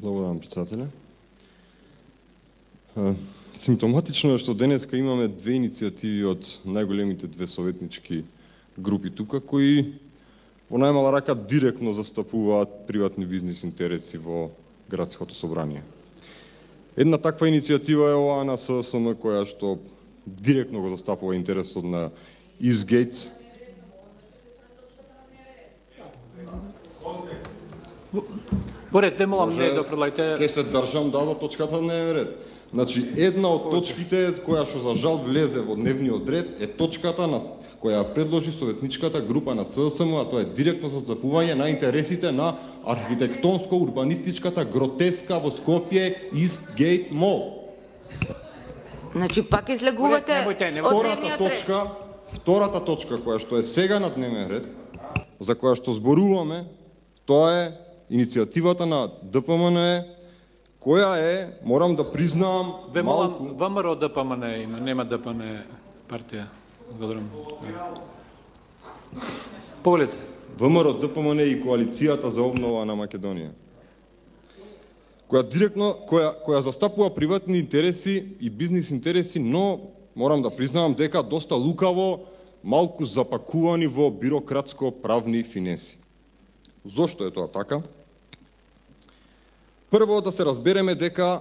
Благодарам, председателе. Симптоматично е што денеска имаме две иницијативи од најголемите две советнички групи тука, кои во најмала рака директно застапуваат приватни бизнис интереси во градското собрание. Една таква иницијатива е оваа на ССМ, која што директно го застапува интересот на Изгейт. Поред, те молам не дофрлајте. Ке се држам до точката на дневен ред. Значи, една од точките која што за жал влезе во дневниот ред е точката на која предложи советничката група на ССМ, а тоа е директно застапување на интересите на архитектонско-урбанистичката гротеска во Скопје Eastgate Mall. Значи пак излегувате втората точка која што е сега на дневен ред, за која што зборуваме, тоа е иницијативата на ДПМН, која е, морам да признаам, малку... ВМРО ДПМН има, нема ДПМН партија. Благодарам. Повелете. ВМРО ДПМН и коалицијата за обнова на Македонија, која директно која застапува приватни интереси и бизнис интереси, но морам да признавам дека доста лукаво, малку запакувани во бирократско-правни финеси. Зошто е тоа така? Прво да се разбереме дека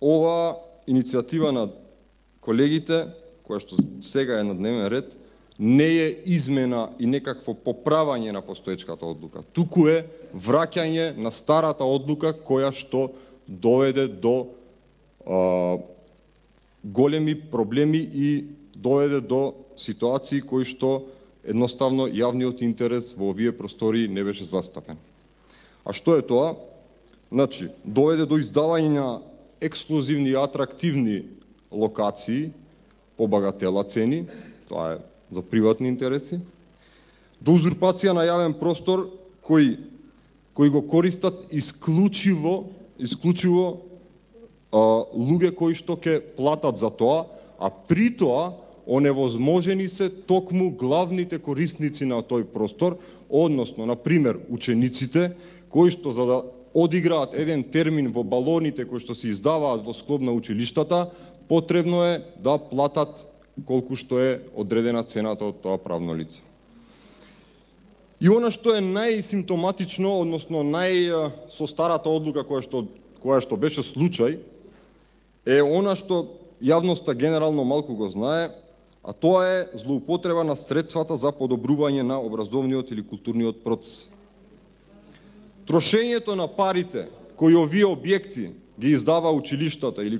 ова иницијатива на колегите, која што сега е на дневен ред, не е измена и некакво поправање на постоечката одлука. Туку е враќање на старата одлука која што доведе до големи проблеми и доведе до ситуации кои што едноставно јавниот интерес во овие простори не беше застапен. А што е тоа? Значи, доведе до издавање на ексклузивни и атрактивни локации по багатела цени, тоа е за приватни интереси, до узурпација на јавен простор кои го користат исклучиво луѓе кои што ќе платат за тоа, а при тоа оневозможени се токму главните корисници на тој простор, односно, на пример, учениците, кои што за да одиграат еден термин во балоните кои што се издаваат во склоп на училиштата, потребно е да платат колку што е одредена цената од тоа правно лице. И она што е најсимптоматично, односно со старата одлука која што беше случај, е она што јавноста генерално малку го знае, а тоа е злоупотреба на средствата за подобрување на образовниот или културниот процес. Трошењето на парите кои овие објекти ги издава училиштата или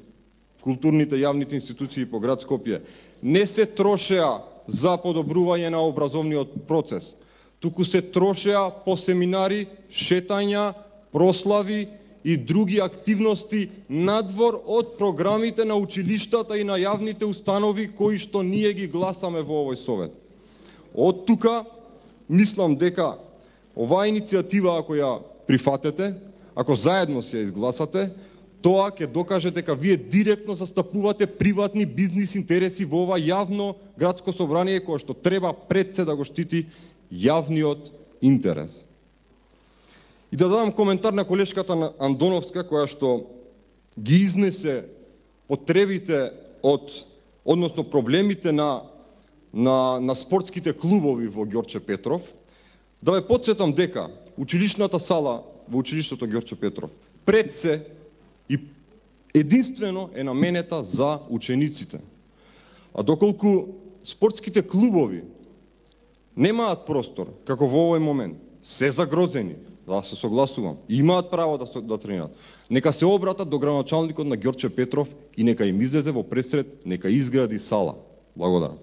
културните јавните институции по град Скопје не се трошеа за подобрување на образовниот процес, туку се трошеа по семинари, шетања, прослави и други активности надвор од програмите на училиштата и на јавните установи кои што ние ги гласаме во овој совет. Од тука мислам дека оваа иницијатива, ако ја прифатете, ако заедно се ја изгласате, тоа ќе докаже дека вие директно застапувате приватни бизнис интереси во ова јавно градско собрание кое што треба пред се да го штити јавниот интерес. И да дадам коментар на колешката Андоновска, која што ги изнесе потребите односно проблемите на спортските клубови во Ѓорче Петров, да ве потсетам дека училишната сала во училиштето Ѓорче Петров пред се и единствено е наменета за учениците. А доколку спортските клубови немаат простор, како во овој момент, се загрозени, да се согласувам, имаат право да тренират, нека се обратат до градоначалникот на Ѓорче Петров и нека им излезе во пресред, нека изгради сала. Благодарам.